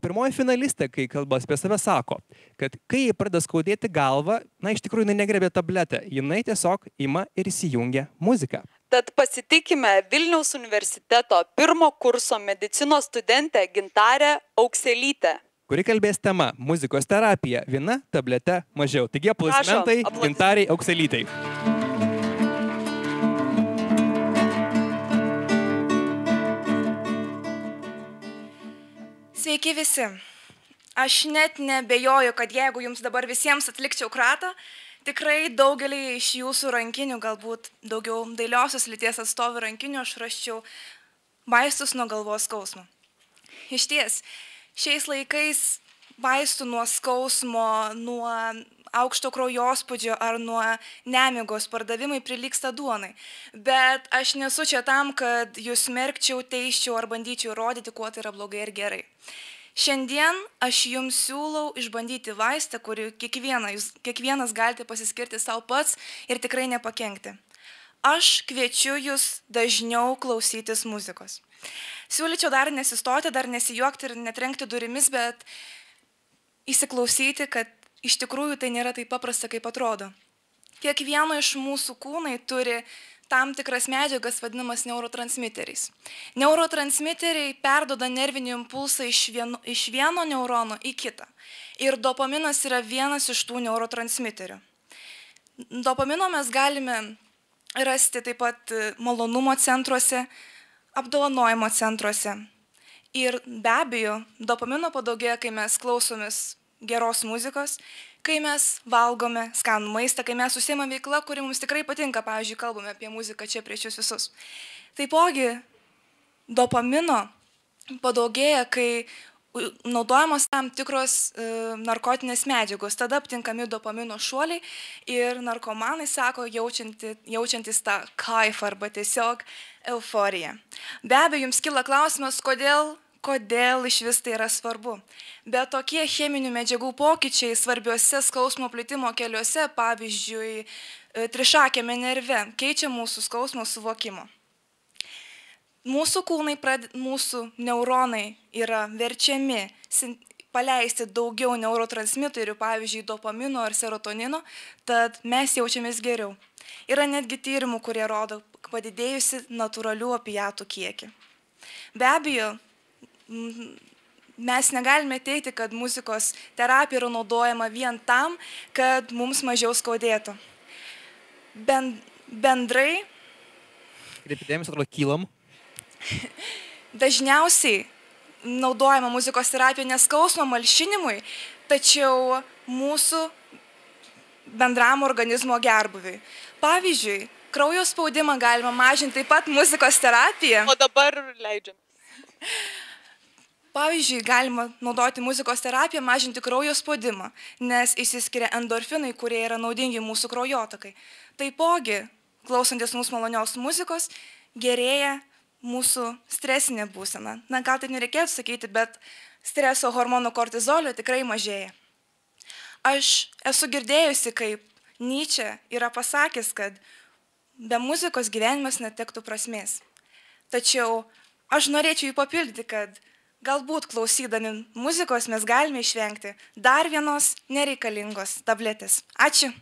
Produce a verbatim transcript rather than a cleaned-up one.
Pirmoji finalistė, kai kalbas apie save, sako, kad kai jai pradeda skaudėti galvą, na, iš tikrųjų, jinai negrebė tabletę, jinai tiesiog ima ir įsijungia muziką. Tad pasitikime Vilniaus universiteto pirmo kurso medicinos studentę Gintarę Aukselytę, kuri kalbės tema muzikos terapija, viena tabletė mažiau. Taigi aplodismentai Gintariai Aukselytei. Sveiki visi. Aš net nebejoju, kad jeigu jums dabar visiems atlikčiau kratą, tikrai daugelį iš jūsų rankinių, galbūt daugiau dailiosios lyties atstovų rankinių, aš raščiau vaistus nuo galvos skausmo. Iš ties, šiais laikais vaistų nuo skausmo, nuo aukšto kraujospūdžio ar nuo nemigos pardavimai prilygsta duonai. Bet aš nesu čia tam, kad jūs smerkčiau, teisčiau ar bandyčiau rodyti, kuo tai yra blogai ir gerai. Šiandien aš jums siūlau išbandyti vaistą, kurį kiekvieną, jūs, kiekvienas galite pasiskirti savo pats ir tikrai nepakenkti. Aš kviečiu jūs dažniau klausytis muzikos. Siūlyčiau dar nesistoti, dar nesijuokti ir netrenkti durimis, bet įsiklausyti, kad iš tikrųjų tai nėra taip paprasta, kaip atrodo. Kiekvieno iš mūsų kūnai turi tam tikras medžiagas vadinamas neurotransmiteriais. Neurotransmiteriai perduoda nervinį impulsą iš vieno, iš vieno neurono į kitą. Ir dopaminas yra vienas iš tų neurotransmiterių. Dopamino mes galime rasti taip pat malonumo centruose, apdovanojimo centruose. Ir be abejo, dopamino padaugėja, kai mes klausomės geros muzikos, kai mes valgome skanų maistą, kai mes užsiimame veiklą, kuri mums tikrai patinka, pavyzdžiui, kalbame apie muziką čia prieš jūs visus. Taipogi, dopamino padaugėja, kai naudojamos tam tikros e, narkotinės medžiagos, tada aptinkami dopamino šuoliai ir narkomanai sako, jaučiantis, jaučiantis tą kaifą arba tiesiog euforiją. Be abejo, jums kyla klausimas, kodėl kodėl iš vis tai yra svarbu. Bet tokie cheminių medžiagų pokyčiai svarbiuose skausmo plitimo keliuose, pavyzdžiui, trišakėme nerve, keičia mūsų skausmo suvokimo. Mūsų kūnai, mūsų neuronai yra verčiami paleisti daugiau neurotransmiterių, pavyzdžiui, dopamino ar serotonino, tad mes jaučiamės geriau. Yra netgi tyrimų, kurie rodo padidėjusi natūralių opiatų kiekį. Be abejo, mes negalime teigti, kad muzikos terapija yra naudojama vien tam, kad mums mažiau skaudėtų. Ben, bendrai... Kreipidėmės, atrodo, kylam. Dažniausiai naudojama muzikos terapija neskausmo malšinimui, tačiau mūsų bendram organizmo gerbūviui. Pavyzdžiui, kraujo spaudimą galima mažinti taip pat muzikos terapija. O dabar leidžiam. Pavyzdžiui, galima naudoti muzikos terapiją, mažinti kraujo spaudimą, nes išsiskiria endorfinai, kurie yra naudingi mūsų kraujotakai. Taipogi, klausantis mūsų malonios muzikos, gerėja mūsų stresinė būsena. Na, gal tai nereikėtų sakyti, bet streso hormonų kortizolio tikrai mažėja. Aš esu girdėjusi, kaip Nyčė yra pasakęs, kad be muzikos gyvenimas netektų prasmės. Tačiau aš norėčiau jį papildyti, kad galbūt klausydami muzikos mes galime išvengti dar vienos nereikalingos tabletės. Ačiū.